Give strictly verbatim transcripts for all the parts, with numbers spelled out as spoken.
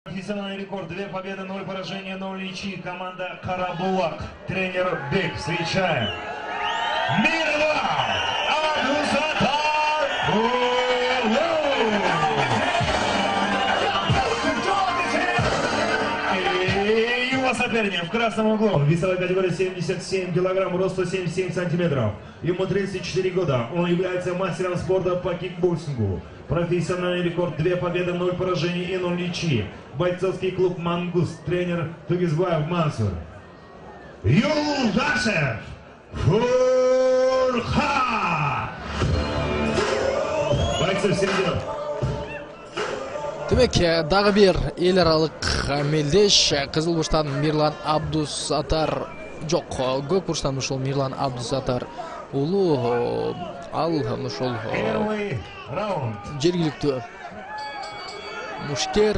Профессиональный рекорд. Две победы, ноль поражения, ноль ничьи. Команда Карабулак. Тренер Бек. Встречаем. Мирлан Абдусаттар и его соперник в красном углу. Весовая категория семьдесят семь килограмм, рост сто семьдесят семь сантиметров. Ему тридцать четыре года. Он является мастером спорта по кикбоксингу. Профессиональный рекорд. Две победы, ноль поражений и ноль ничьи. Бойцовский клуб «Мангус». Тренер Тугизбаев Мансур. Юлдашев Фурхат. Бойцы всем делом. Демек, дагы бир эл аралык мелдеш Кызыл бурчтан Мирлан Абдусаттар жок, көк бурчтан ушул Мирлан Абдусаттар уулу ал ушул жергиликтүү мушкер,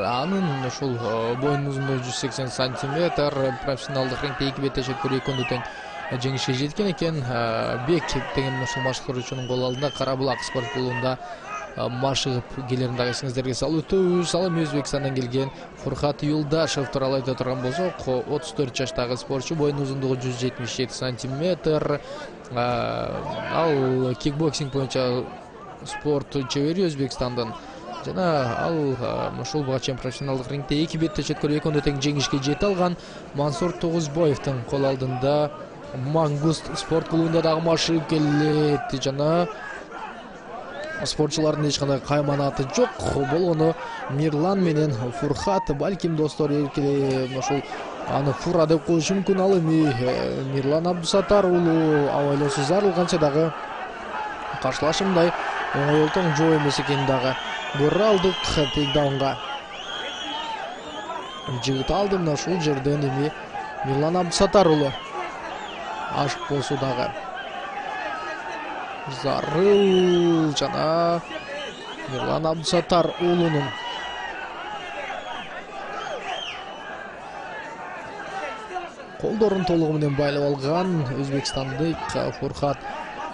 анын ушул боюнун узундугу жүз сексен сантиметр, профессионалдык рингде эки бетте чөткөрүү экөндө тең жеңишке жеткен экен. Бек деген ушул башкаруучунун кол алдында Карабулак спорт клубунда машыгып келерин дагы эсиңиздерге салып өтөбүз. Ал эми Өзбекстандан келген Фурхат Юлдашев тууралуу айта турган болсок, отуз төрт жаштагы спортчу, боюнун узундугу жүз жетимиш жети сантиметр. Ал кикбоксинг боюнча спорт чебери Өзбекстандан. Жана ал ушул буга чейин профессионалдык рингде эки бетте чөткөрүү экөндө тең жеңишке жете алган. Мансур Тугузбаевдин кол алдында Мангус спорт клубунда дагы машыгып келет. Жана спортчулардын эч кандай кайманаты жок. Болгону Мирлан менен Фурхат, балким достор эркеле ошол аны Фура деп коюшу мүмкүн. Ал эми Мирлан Абдусаттар уулу абайлоосу зарылганча дагы каршылашымдай оңой олтоң жоо эмес экенин дагы көрө алдык. Тейкдаунга жигит алды. Мына ушул жерден эми Мирлан Абдусаттар уулу ашык болсо дагы зарыл. Жана Мирлан Абдусаттар уулунун колдорун толугу менен байлап алган өзбекстандык Фурхат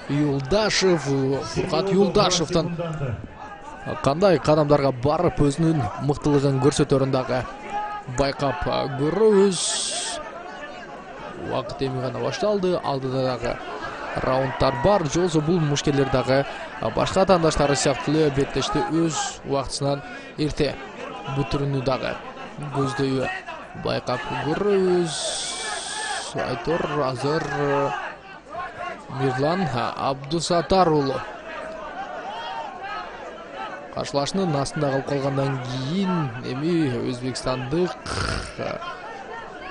Юлдашев. Фурхат Юлдашевден кандай кадамдарга барып өзүнүн мыктылыгын көрсөтөрүн дагы байкап көрөбүз. Убакыт эми гана башталды. Алдыда дагы раунддар бар. Жолсо бул мушкерлер дагы башка атаандаштары сыяктуу эле беттешти өз убактысынан эрте бүтүрүүнү дагы көздөйбү байкап көрөбүз. Айтор азыр Мирлан Абдусаттар уулу каршылашынын астында калып калгандан кийин эми өзбекстандык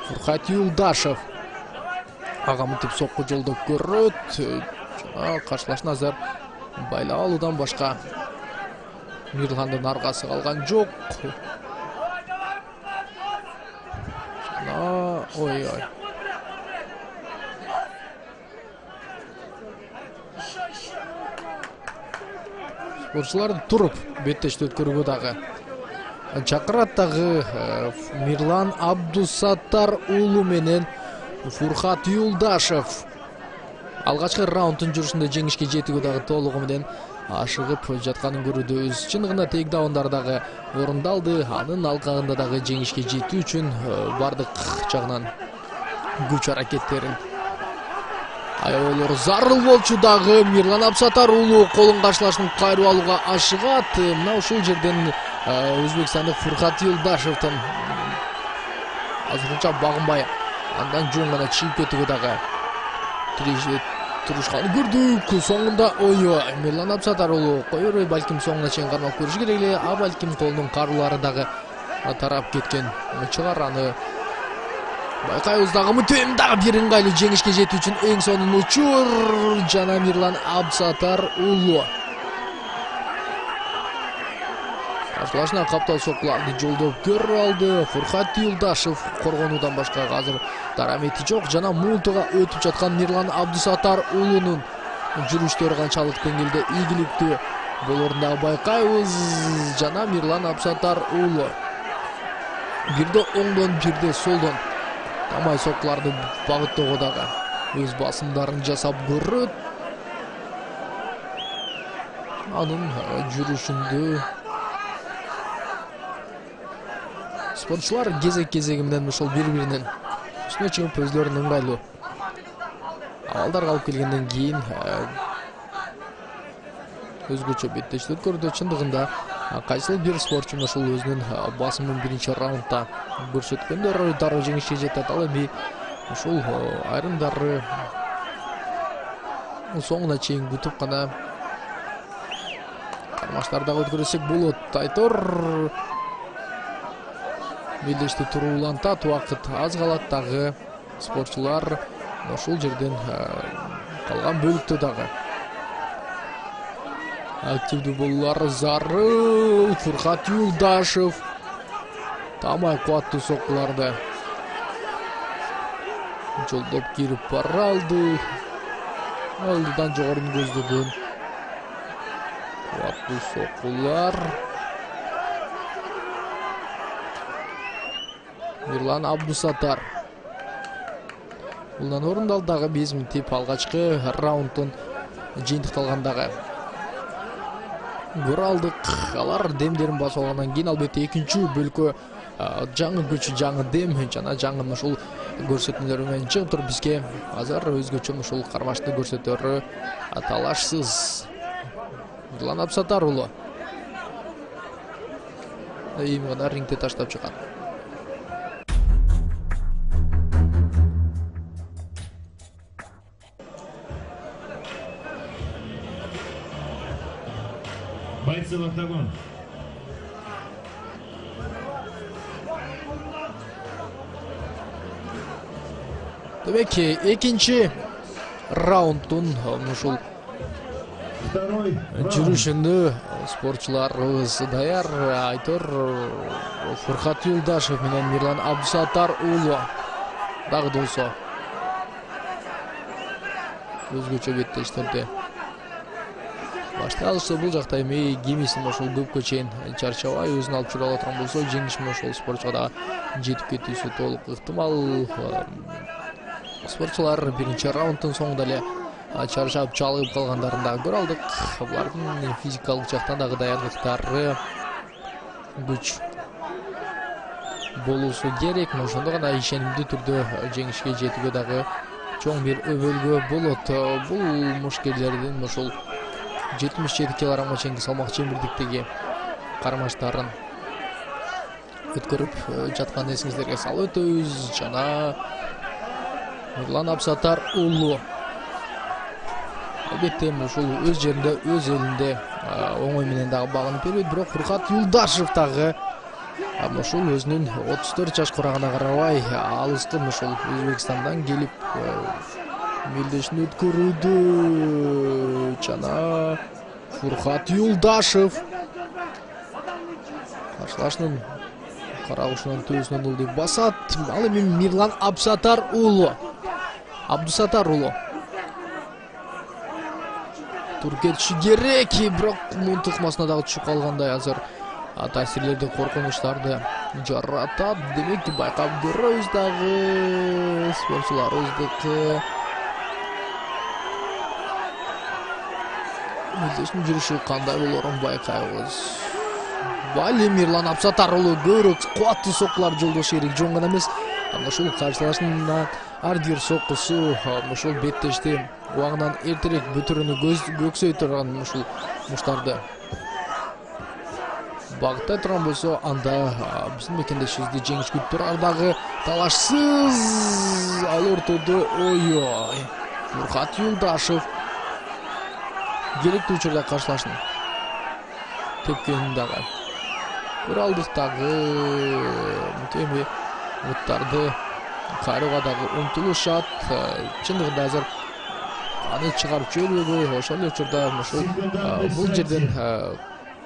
Фурхат Юлдашев ага мынтип сокку жолдоп көрөт. Жана каршылашын азыр байлап алуудан башка Мирландын аргасы калган жок. Жана ой ой спортчулар туруп беттешти өткөрүүгө дагы чакырат. Дагы Мирлан Абдусаттар уулу менен Фурхат Юлдашев алгачкы раунддун жүрүшүндө жеңишке жетүүгө дагы толугу менен ашыгып жатканын көрүүбүз. Чын гана тейкдаундар дагы орундалды. Анын алкагында дагы жеңишке жетүү үчүн бардык жагынан күч аракеттерин аябайлар зарыл болчу. Дагы Мирлан Абдусаттар уулу колун каршылашын кайрып алууга ашыгат. Мына ушул жерден өзбекстандык Фурхат Юлдашевден азырынча багынбай андан жөн гана чыгып кетүүгө дагы турушканын көрдүк. Соңунда ой Мирлан Абдусаттар уулу кое бербей балким соңуна чейин кармап көрүш керек эле. А балким колунун каруулары дагы тарап кеткен чыгар. Аны байкайбыз. Дагы мынтип дагы бир ыңгайлуу жеңишке жетүү үчүн эң сонун учур. Жана Мирлан Абдусаттар уулу каршылашына каптал соккуларды жолдоп көрүп алды. Фурхат Юлдашев коргонуудан башка азыр дарамети жок. Жана муунтуга өтүп жаткан Мирлан Абдусаттар уулунун жүрүштөрү канчалык деңгээлде ийгиликтүү болорун дагы байкайбыз. Жана Мирлан Абдусаттар уулу бирде оңдон бирде солдон тамай соккуларды багыттоого дагы өз басымдарын жасап көрөт. Анын жүрүшүндө Спортчулар кезек-кезеги менен ошол бири-биринин үстүнө чыгып өзлөрүнүн ыңгайлуу абалдарга алып келгенден кийин өзгөчө беттештик көрдү. Чындыгында кайсыл бир спортчу ошол өзүнүн басымын биринчи раундда көрсөткөндөр дароо жеңишке жетет. Ал эми ушул айрымдары соңуна чейин күтүп гана кармаштардагы өткөрсөк болот. Айтор белдешти туруулантат, убакыт аз калат дагы. Спортчулар ошол жерден калган бөлүктө дагы активдүү болуулары зарыл. Фуркат Юлдашев тамай кубаттуу соккуларды жолдоп кирип бара алды. Алдыдан жогорун көздөгөн кубаттуу соккулар. Мирлан Абдусаттар булдан орундалды дагы беш минут алгачкы раунддун жыйынтыкталгандагы. Көрө алдык, алар демдерин басып алгандан кийин албетте экинчи бөлкө жаңы күч, жаңы дем жана жаңы ушул көрсөтмөлөр менен чыгып туруп бизге азыр өзгөчө ушул кармашты көрсөтөрү талашсыз. Мирлан Абдусаттар уулу эми гана рингде таштап чыккан. Бойцы в октагон. Демек, экинчи раунддун ушул жүрүшүндө спортчуларыбыз даяр. Айтор Фуркат Юлдашев менен Мирлан Абдусаттар уулу дагы болсо өзгөчө беттештерди баштай алышты. Бул жакта эми кимисин ошол көпкө чейин чарчабай өзүн алып жүрө алаткан болсо, жеңиш менен ошол спортчуга да жетип кетүүсү толук ыктымал. Спортчулар биринчи раунддун соңунда эле чарчап чалыгып калгандарын дагы көрө алдык. Булардын физикалык жактан дагы даярдыктары күч болуусу керек. Ошондо гана ишенимдүү түрдө жеңишке жетүүгө дагы чоң бир өбөлгө болот. Бул мушкерлердин ошол жетимиш жети килограммга чейинки салмак чембирдиктеги кармаштарын өткөрүп жаткан эсиңиздерге салып өтөбүз. Жана Мирлан Абдусаттар уулу албетте ушул өз жеринде, өз элинде оңой менен дагы багынып бербейт. Бирок Фуркат Юлдашев дагы ушул өзүнүн отуз төрт жашка карагана карабай алыстын ушул Өзбекстандан келип белдешин өткөрүүдө. Жана Фуркат Юлдашев каршылашынын карагушунан төбөсүнөн ылдый басат. Ал эми Мирлан Абдусаттар уулу Абдусаттар уулу тур кетиши керек, бирок мун тыкмасына дагы түшүп калгандай азыр таасирлерди, коркунучтарды жаратат. Демек, байкап көрөбүз дагы спортчуларыбыздыкы белдештин жүрүшү кандай болорун байкайбыз. Бали Мирлан Абдусаттар уулу көбүрөөк кубаттуу соккулар жолдошу керек, жөн гана эмес. Ушул каршылашынан ар бир соккусу ушул беттешти убагынан эртерээк бүтүрүүнү көксөй турган ушул муштарды багыттай турган болсо, анда биздин мекендешибизди жеңиш күтүп турар. Дагы талашсыз ал ортодо ойой Фуркат Юлдашев керектүү учурда каршылашын тепкенин дагы көрө алдык. Дагы эми буттарды кайрууга дагы умтулушат. Чындыгында азыр аны чыгарып жибербөйгө, ошол учурда ушул бул жерден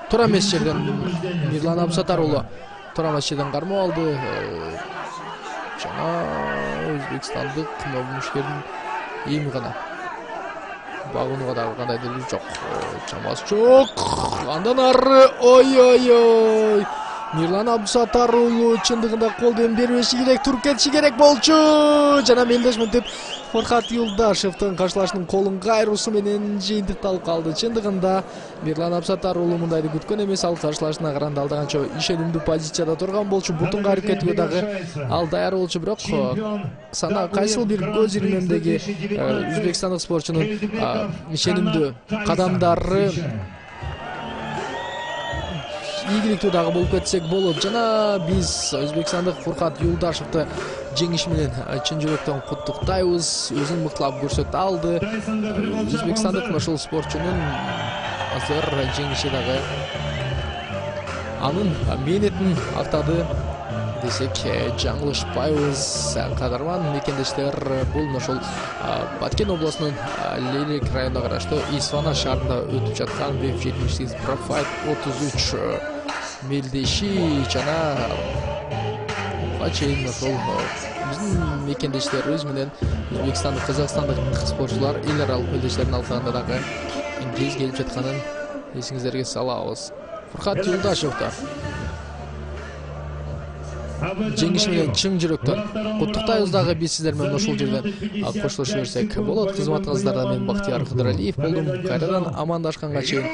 туура эмес жерден Мирлан Абдусаттар уулу туура эмес жерден кармоо алды. Жана өзбекстандык мушкердин эми гана багынууга дагы кандайдыр жок, чамасы жок. Андан ары ой-ой-ой Мирлан Абдусаттар уулу чындыгында колдон бербеши керек, туруп кетиши керек болчу. Жана мелдешментип Фуркат Юлдашевдин каршылашынын колун кайруусу менен жыйынтыкталып калды. Чындыгында Мирлан Абдусаттар уулу мындайды күткөн эмес, ал каршылашына каранды алда канча ишенимдүү позицияда турган болчу. Бутун кайрып кетүүгө дагы ал даяр болчу, бирок сана кайсыл бир көз ирмемдеги өзбекстандык спортчунун ишенимдүү кадамдары ийгиликтүү дагы болуп кетсек болот. Жана биз өзбекстандык Фуркат Юлдашевди жеңиши менен чын жүрөктөн куттуктайбыз. Өзүн мыктылап көрсөтө алды. Өзбекстандык ошол спортчунун азыр жеңиши дагы анын мээнетин актады десек жаңылышпайбыз. Кадарман мекендештер, бул ошол Баткен облусунун Лелек районуна караштуу Исфана шаарында өтүп жаткан веб жетимиш сегиз Профайт отуз үч мелдеши жана буга чейин ошол биздин мекендештерибиз менен Өзбекстандык, Казакстандык спортчулар эл аралык мелдештерин алкагында дагы кез келип жатканын эсиңиздерге салабыз. Фуркат Юлдашевди жеңиши менен чын жүрөктөн куттуктайбыз дагы биз сиздер менен ошол жерден коштошо берсек болот. Кызматыңыздарда мен Бактияр Кыдыралиев болдум. Кайрадан амандашканга чейин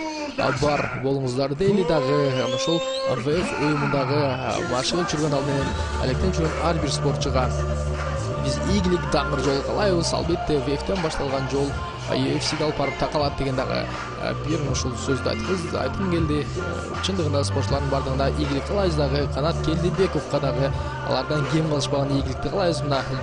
бар болуңуздар дейли. Дагы ошол ВФ уюмундагы башыгып жүргөн, ал менен алектенип жүргөн ар бир спортчуга биз ийгилик, даңыр жол каалайбыз. Албетте ВФтен башталган жол ю эф сиге алып барып такалат деген дагы бир ошол сөздү айткыз айткым келди. Чындыгында спортчулардын бардыгына ийгилик каалайбыз дагы. Канат Келдибековго дагы алардан кем калышпаган ийгиликти каалайбыз. Мына